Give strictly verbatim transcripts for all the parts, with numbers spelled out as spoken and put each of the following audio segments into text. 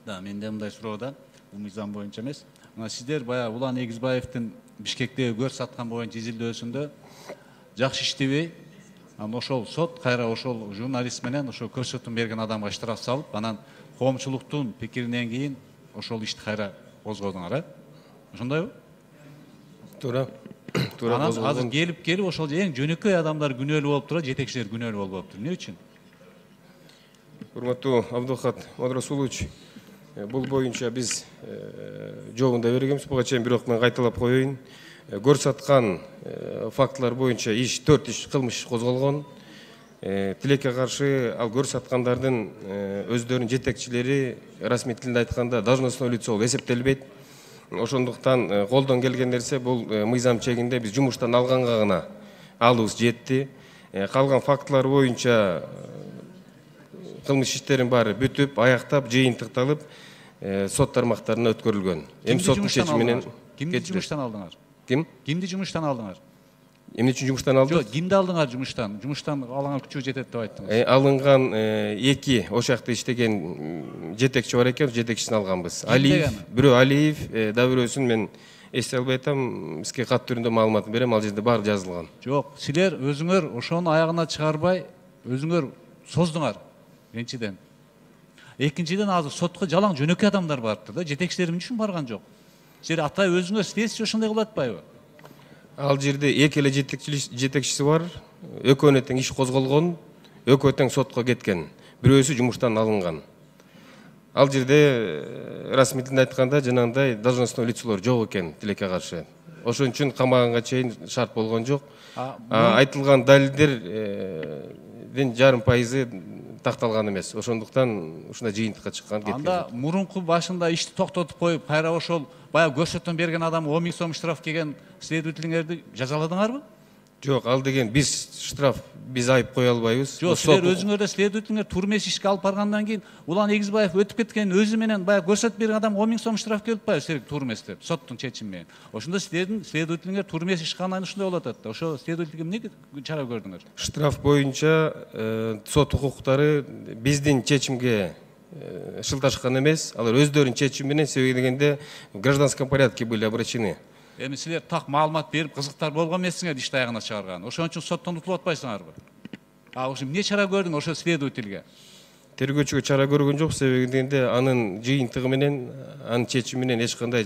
Да, менде мындай суроо да, бул мыйзам боюнча эмес. Мына сиздер баягы Улан Эгизбаевдин Бишкектеги көр саткан боюнча изилдөөсүндө жакшы иштебей, анан ошол сот кайра ошол журналист менен ошол көрсөтүүнү берген адамга штраф салып, анан коомчулуктун пикиринен кийин ошол ишти кайра козгодуңар, э? Ошондойбу? Туура. Туура козголгон. Анан азыр келип келип ошол эң жөнөкөй адамдар күнөөлүү болуп турат, жетекчилер күнөөлүү болуп атыптыр. Эмне үчүн? Урматтуу Абдулхат Мадрасулович, бул боюнча биз жообун да бергенбиз, буга чейин, бирок мен кайталап коеюн. Көрсаткан фактылар боюнча иш төрт иш кылмыш козголгон. Тилекке каршы ал көрсаткандардын өздөрүнүн жетекчилери расмий тилде айтканда должностной лицо болуп эсептелбейт. Ошондуктан колдон келген нерсе бул мыйзам чегинде биз жумуштан алганга гана алуубуз жетти. Калган фактылар боюнча кылмыш иштерин баары бүтүп, аяктап, жыйынтыкталып, сот тармактарына өткөрүлгөн. Эми соттун чечими менен кимди жумуштан алдыңар? Ким? Кимди жумуштан алдыңар? Эмне үчүн жумуштан алдыңар? Жок, кимди алдыңар жумуштан? Жумуштан алган күчү жетет деп айттыңыз. Алынган эки ошол жакта иштеген жетекчи бар экен, жетекчисин алганбыз. Алиев, бирөө Алиев, да бирөөсүн мен эсте албай атам, бизге кат түрүндө маалыматын берем, ал жерде баары жазылган. Жок, силер өзүңөр ошону аягына чыгарбай, өзүңөр создуңар. Биринчиден. Экинчиден азыр сотко жалаң жөнөкөй адамдар барыптыр да, жетекчилер эмне үчүн барган жок? Силер атай өзүңөр следствие ошондой кылып атпайбы? Ал жерде эки эле жетекчиси бар, экөөнө тең иш козголгон, экөө тең сотко кеткен, бирөөсү жумуштан алынган. Ал жерде расмий тилде айтканда жанагындай должностной лицолор жок экен тилекке каршы. Ошон үчүн камаганга чейин шарт болгон жок. Айтылган далилдердин жарым пайызы такталган эмес. Ошондуктан ушундай жыйынтыкка чыккан кеткен. Анда мурунку башында ишти токтотуп коюп, кайра ошол баягы көрсөтмө берген адам он миң сом штраф келген следователиңерди жазаладыңарбы? Жок, ал деген биз штраф, биз айып кое албайбыз. Жок, силер өзүңөр да следователиңер турмес ишке алып баргандан кийин Улан Эгизбаев өтүп кеткен өзү менен баягы көрсөтүп берген адам он миң сом штраф келип атпайбы силерге турмес деп, соттун чечими менен. Ошондо силердин следователиңер турмес иш кылгандан ушундай болуп атат да. Ошо следователге эмне чара көрдүңөр? Штраф боюнча сот укуктары биздин чечимге шылташкан эмес, алар өздөрүнүн чечими менен, себеби дегенде в гражданском порядке были обращены. Эми силер так маалымат берип, кызыктар болгон эмессиңер ишти аягына чыгарган. Ошон үчүн соттон утулуп атпайсыңарбы? А ошо эмне чара көрдүң ошо следовательге? Тергөөчүгө чара көргөн жок, себеби дегенде анын жыйынтыгы менен, анын чечими менен эч кандай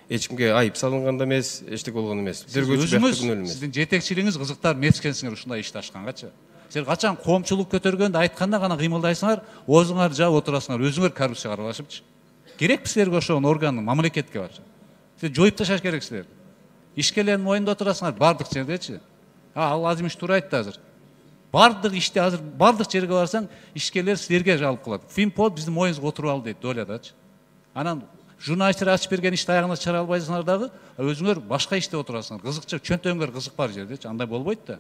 эч кимге айып салынган да эмес, эчтеке болгон эмес. Тергөөчү бияктуу күнөөлүү эмес. Сиздин жетекчилигиңиз кызыктар мечкенсиңер ушундай ишти ачкангачы. Силер качан коомчулук көтөргөндө айтканда гана кыймылдайсыңар, оозуңарды жаап отурасыңар, өзүңөр коррупцияга аралашыпчы. Керекпи силерге ошол орган, мамлекетке бачы? Силер жоюп ташаш керексиздер. Ишкерлердин моюнда отурасыңар бардык жердечи. Ал Азимиш туура айтты азыр. Бардык ишти азыр бардык жерге барсаң, ишкерлер силерге жалып кылат. Финпод биздин моюнубузга отуруп ал дейт дойлядачы. Анан журналисттер ачып берген ишти аягына чыгара албайсыңар дагы, өзүңөр башка иште отурасыңар. Кызыкчы чөнтөгүңөр кызык бар жердечи. Андай болбойт да.